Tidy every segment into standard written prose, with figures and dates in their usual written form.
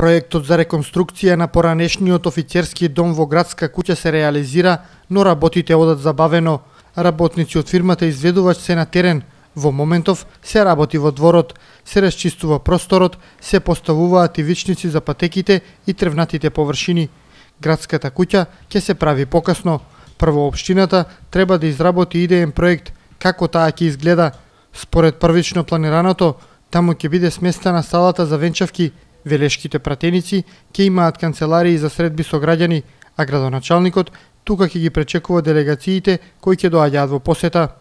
Проектот за реконструкција на поранешниот офицерски дом во градска куќа се реализира, но работите одат забавено. Работници од фирмата изведувач се на терен. Во моментов се работи во дворот, се расчистува просторот, се поставуваат ивичници за патеките и тревнатите површини. Градската куќа ќе се прави покасно. Прво општината треба да изработи идеен проект како таа ќе изгледа. Според првично планираното, таму ќе биде сместена салата за венчавки. Велешките пратеници ќе имаат канцеларии за средби со граѓани, а градоначалникот тука ќе ги пречекува делегациите кои ќе доаѓаат во посета.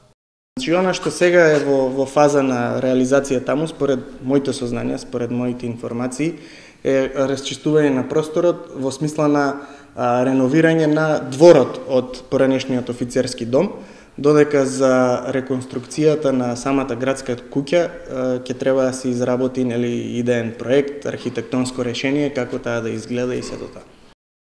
Значи, она што сега е во фаза на реализација таму, според моите сознанија, според моите информации, е расчистување на просторот во смисла на реновирање на дворот од поранешниот офицерски дом, додека за реконструкцијата на самата градска куќа ќе треба да се изработи идеен проект, архитектонско решение како таа да изгледа и сето тоа.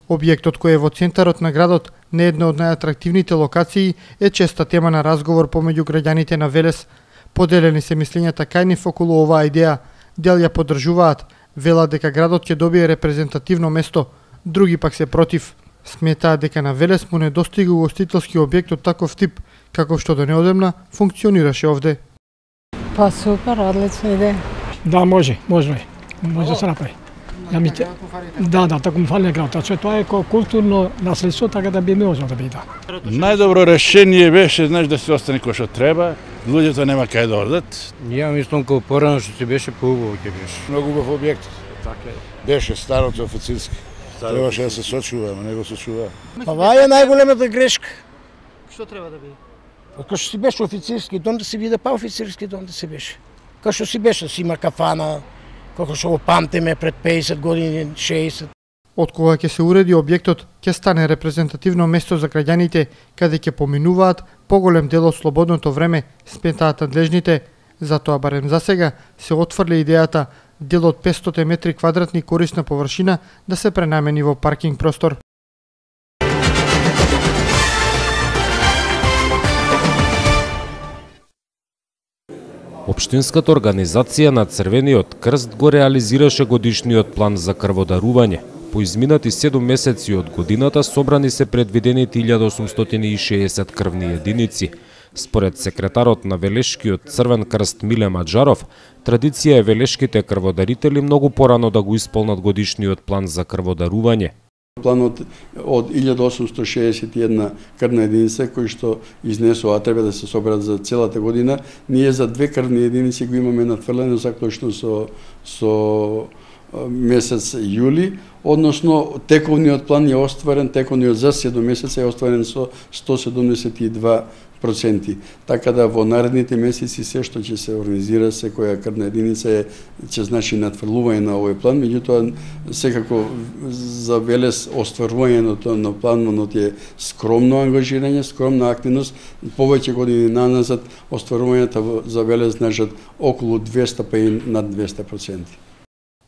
Објектот кој е во центарот на градот, не една од најатрактивните локации, е честа тема на разговор помеѓу граѓаните на Велес. Поделени се мислењата кај нив околу оваа идеја, дел ја поддржуваат, велат дека градот ќе добие репрезентативно место, други пак се против. Сметаат дека на Велес му недостига угостителски објект од таков тип, каков што до неодамна функционираше овде. Па супер, одлична идеја. Да, може да се направи. Да, таку ми фали на градот. Тоа е културно наследство, така да би можело да биде. Најдобро решение беше, да се остане кој што треба, луѓето нема кај да одат. Ја мислам како порано што се беше поубаво ќе беше. Многу убав објект. Беше старото офицерски. Требаше да се сочува, но не го сочува. Ова е најголемата грешка. Што треба да биде? Кај што си беше офицерски дом, да се биде па офицерски дом да се беше. Кај што си беше, си има кафана, како што го памтиме пред 50 години, 60. Од кога ќе се уреди објектот, ќе стане репрезентативно место за граѓаните, каде ќе поминуваат поголем дел од слободното време, сметаат надлежните. Затоа барем за сега се отфрли идејата дел од 500 метри квадратни корисна површина да се пренамени во паркинг простор. Општинската организација на Црвениот крст го реализираше годишниот план за крводарување. По изминати 7 месеци од годината собрани се предвидени 1860 крвни единици. Според секретарот на Велешкиот Црвен крст Миле Маџаров, традиција е велешките крводарители многу порано да го исполнат годишниот план за крводарување. Планот од 1861 крвна единица кој што изнесува, треба да се соберат за целата година, ние за 2 крвни единици го имаме надфрлено заклучно со месец јули, односно тековниот план е остварен, тековниот за 7 месеца е остварен со 172%. Така да во наредните месеци се што ќе се организира секоја крвна единица ќе значи надфрлување на овој план, меѓутоа секако за Велес остварувањето на планот е скромно ангажирање, скромна активност. Повеќе години наназад остварувањето за Велес значат околу 200 па и над 200%.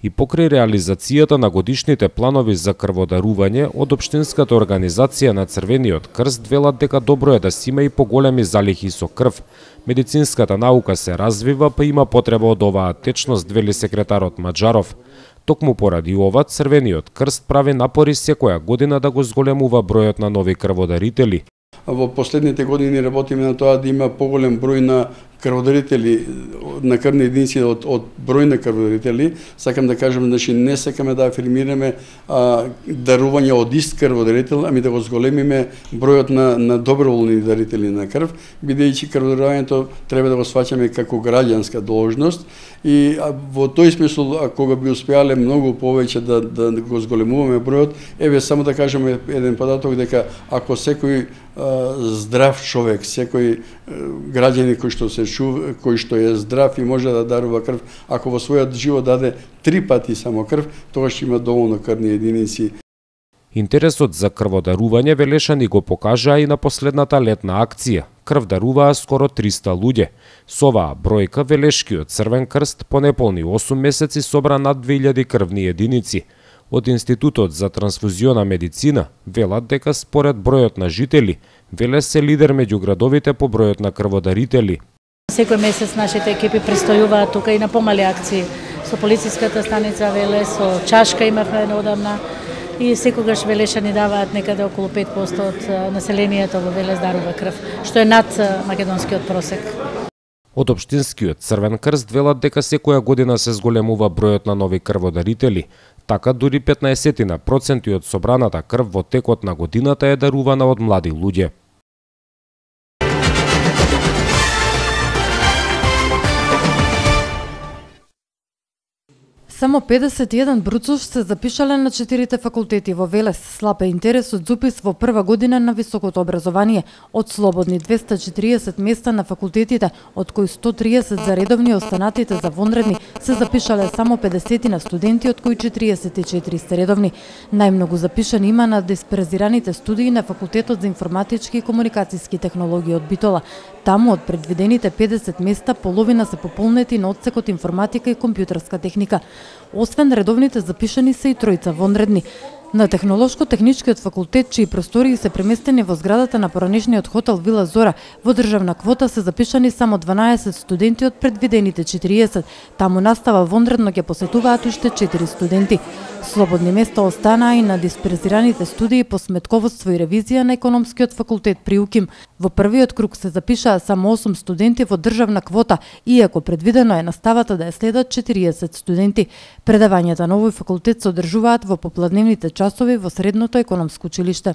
И покрај реализацијата на годишните планови за крводарување од Општинската организација на Црвениот крст велат дека добро е да си има и поголеми залихи со крв. Медицинската наука се развива, па има потреба од оваа течност, вели секретарот Маџаров. Токму поради ова, Црвениот крст прави напори секоја година да го зголемува бројот на нови крводарители. Во последните години работиме на тоа да има поголем број на крводарители, на крвни единици од број на крводарители. Сакам да кажам, значи не сакаме да афирмираме дарување од ист крводарител, ами да го зголемиме бројот на доброволни дарители на крв, бидејќи крводарувањето треба да го сваќаме како граѓанска должност и во тој смисол, кога би успеале многу повеќе да го зголемуваме бројот, еве само да кажеме еден податок дека ако секој здрав човек, секој граѓанин кој што е здрав и може да дарува крв, ако во својот живот даде 3 пати само крв, тогаш ќе има доволно крвни единици. Интересот за крводарување велешани го покажаа и на последната летна акција. Крв даруваа скоро 300 луѓе. Со оваа бројка Велешкиот Црвен крст по неполни 8 месеци собра над 2000 крвни единици. Од Институтот за трансфузиона медицина велат дека според бројот на жители, Велес се лидер меѓу градовите по бројот на крводарители. Секој месец нашите екипи престојуваат тука и на помали акции со полициската станица Велес, со Чашка имавме одамна и секогаш Велешани даваат некаде околу 5% од населението во Велес дарува крв, што е над македонскиот просек. Од Општинскиот Црвен крст велат дека секоја година се зголемува бројот на нови крводарители, така дури 15% од собраната крв во текот на годината е дарувана од млади луѓе. Само 51 бруцов се запишале на 4 факултети во Велес. Слаб е интересот за упис во прва година на високото образование. Од слободни 240 места на факултетите, од кои 130 за редовни и останатите за вонредни, се запишале само 50 на студенти, од кои 44 се редовни. Најмногу запишани има на дисперзираните студии на Факултетот за информатички и комуникацијски технологии од Битола. Таму од предвидените 50 места, половина се пополнети на одсекот информатика и компјутерска техника. Освен редовните запишани се и тројца вонредни. На Технолошко-техничкиот факултет, чии простории се преместени во зградата на поранешниот хотел Вила Зора, во државна квота се запишани само 12 студенти од предвидените 40. Таму настава вонредно ќе посетуваат уште 4 студенти. Слободни места останаа и на дисперзираните студии по сметководство и ревизија на економскиот факултет при УКИМ. Во првиот круг се запишаа само 8 студенти во државна квота, иако предвидено е наставата да ја следат 40 студенти. Предавањата на овој факултет се одржуваат во попладневните часови во Средното економско училиште.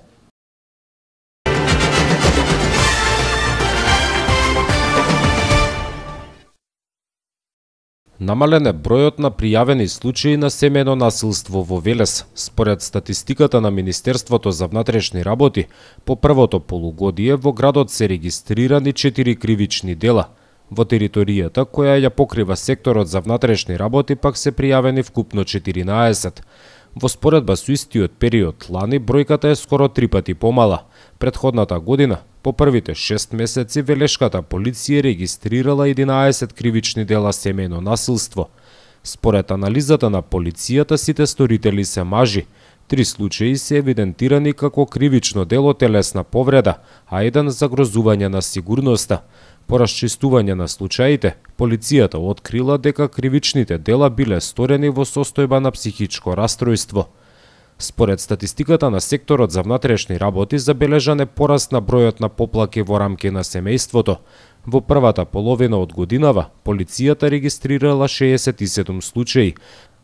Намален е бројот на пријавени случаи на семејно насилство во Велес. Според статистиката на Министерството за внатрешни работи, по првото полугодие во градот се регистрирани 4 кривични дела. Во територијата која ја покрива секторот за внатрешни работи пак се пријавени вкупно 14. Во споредба со истиот период лани бројката е скоро 3 пати помала. Претходната година, по првите 6 месеци, велешката полиција регистрирала 11 кривични дела семејно насилство. Според анализата на полицијата, сите сторители се мажи. 3 случаи се евидентирани како кривично дело телесна повреда, а еден загрозување на сигурноста. По расчистување на случаите, полицијата открила дека кривичните дела биле сторени во состојба на психичко растројство. Според статистиката на секторот за внатрешни работи, забележан е пораст на бројот на поплаки во рамки на семејството. Во првата половина од годинава, полицијата регистрирала 67 случаи.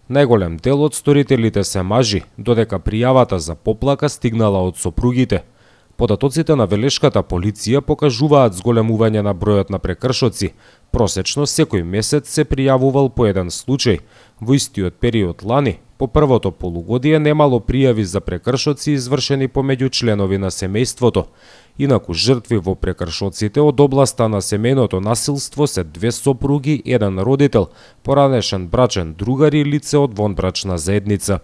Најголем дел од сторителите се мажи, додека пријавата за поплака стигнала од сопругите. Податоците на велешката полиција покажуваат зголемување на бројот на прекршоци. Просечно секој месец се пријавувал по еден случај. Во истиот период лани, по првото полугодие немало пријави за прекршоци извршени помеѓу членови на семејството. Инаку жртви во прекршоците од областа на семејното насилство се 2 сопруги, еден родител, поранешен брачен другар и лице од вонбрачна заедница.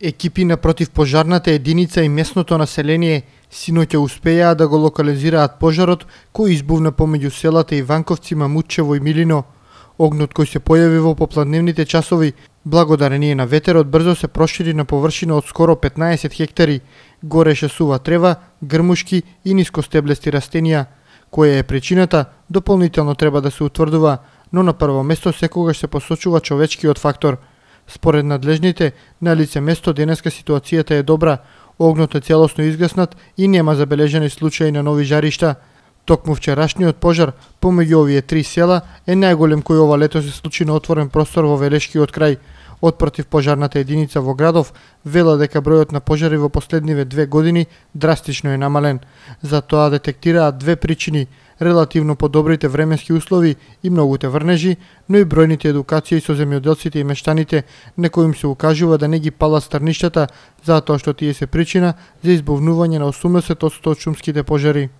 Екипи на противпожарната единица и местното население синоќа успеаа да го локализираат пожарот кој избувна помеѓу селата Иванковци, Мамутчево и Милино. Огнот кој се појави во попладневните часови, благодарение на ветерот, брзо се прошири на површина од скоро 15 хектари. Гореше сува трева, грмушки и нискостеблести растенија. Која е причината, дополнително треба да се утврдува, но на прво место секогаш се посочува човечкиот фактор. Според надлежните, на лице место денеска ситуацијата е добра, огнот е целосно изгаснат и нема забележани случаи на нови жаришта. Токму вчерашниот пожар помеѓу овие 3 села е најголем кој ова лето се случи на отворен простор во Велешкиот крај. Од противпожарната единица во градов вела дека бројот на пожари во последниве 2 години драстично е намален. За тоа детектираат 2 причини: релативно подобрите временски услови и многуте врнежи, но и бројните едукации со земјоделците и мештаните на кои им се укажува да не ги палат стрништата, затоа што тие се причина за избувнување на 80% од шумските пожари.